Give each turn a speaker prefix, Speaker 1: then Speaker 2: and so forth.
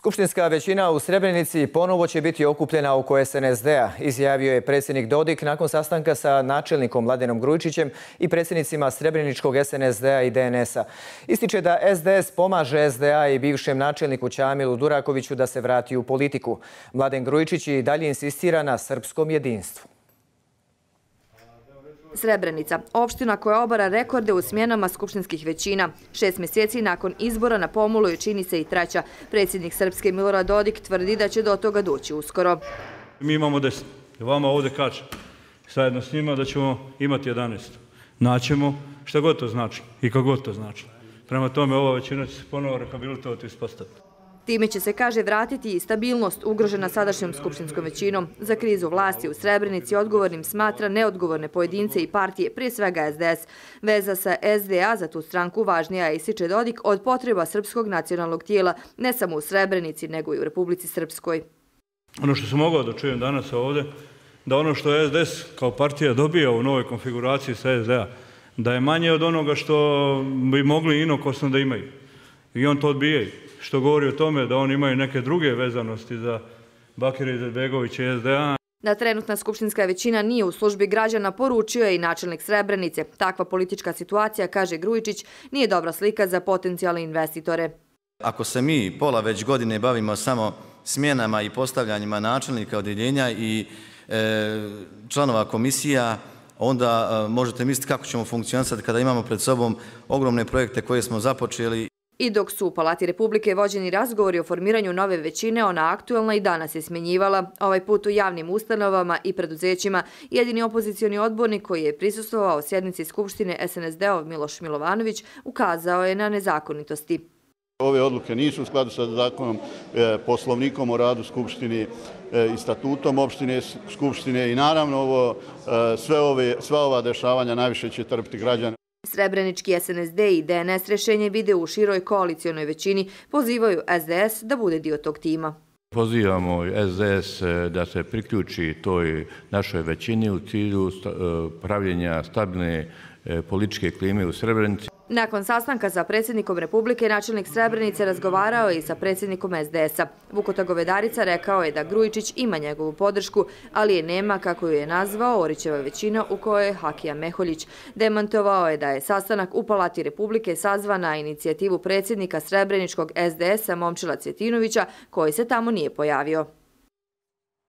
Speaker 1: Skupštinska većina u Srebrenici ponovo će biti okupljena oko SNSD-a, izjavio je predsjednik Dodik nakon sastanka sa načelnikom Mladenom Grujičićem i predsjednicima Srebreničkog SNSD-a i DNS-a. Ističe da SDS pomaže SDA i bivšem načelniku Ćamilu Durakoviću da se vrati u politiku. Mladen Grujičić i dalje insistira na srpskom jedinstvu.
Speaker 2: Srebrenica, opština koja obara rekorde u smjenama skupštinskih većina. 6 mjeseci nakon izbora na pomolu je čini se i treća. Predsjednik Srpske Milorad Dodik tvrdi da će do toga doći uskoro.
Speaker 3: Mi imamo 10. Vama ovdje kaže zajedno s njima da ćemo imati 11. Naćemo šta god to znači i kako god to znači. Prema tome ova većina će se ponovo rehabilitovati i ispostaviti.
Speaker 2: Time će se, kaže, vratiti i stabilnost ugrožena sadašnjom skupštinskom većinom. Za krizu vlasti u Srebrenici odgovornim smatra neodgovorne pojedince i partije, prije svega SDS. Veza sa SDA za tu stranku važnija je, ističe Dodik, od potreba srpskog nacionalnog tijela, ne samo u Srebrenici, nego i u Republici Srpskoj.
Speaker 3: Ono što sam mogao da čujem danas ovdje, da ono što SDS kao partija dobija u novoj konfiguraciji sa SDA, da je manje od onoga što bi mogli inokosno da imaju. I on to odbijaju. Što govori o tome da oni imaju neke druge vezanosti za Bakira Izetbegovića i SDA.
Speaker 2: Da trenutna skupštinska većina nije u službi građana, poručio je i načelnik Srebrenice. Takva politička situacija, kaže Grujičić, nije dobra slika za potencijalne investitore.
Speaker 4: Ako se mi pola već godine bavimo samo smjenama i postavljanjima načelnika odjeljenja i članova komisija, onda možete misliti kako ćemo funkcionisati kada imamo pred sobom ogromne projekte koje smo započeli.
Speaker 2: I dok su u Palati Republike vođeni razgovori o formiranju nove većine, ona aktualna i danas je smjenjivala. Ovaj put u javnim ustanovama i preduzećima. Jedini opozicioni odbornik koji je prisustvovao sjednici Skupštine SNSD-ov Miloš Milovanović ukazao je na nezakonitosti.
Speaker 5: Ove odluke nisu u skladu sa zakonom, poslovnikom o radu Skupštine i statutom opštine Skupštine i naravno sva ova dešavanja najviše će trpiti građani.
Speaker 2: Srebrenički SNSD i DNS rješenje vide u široj koalicionoj većini, pozivaju SDS da bude dio tog tima.
Speaker 6: Pozivamo SDS da se priključi toj našoj većini u cilju pravljenja stabilne političke klime u Srebrenici.
Speaker 2: Nakon sastanka sa predsjednikom Republike, načelnik Srebrenice razgovarao je i sa predsjednikom SDS-a. Vukota Govedarica rekao je da Grujičić ima njegovu podršku, ali je nema, kako ju je nazvao, Orićeva većina u kojoj je Hakija Meholjić. Demantovao je da je sastanak u Palati Republike sazvan na inicijativu predsjednika Srebreničkog SDS-a Momčila Cvjetinovića, koji se tamo nije pojavio.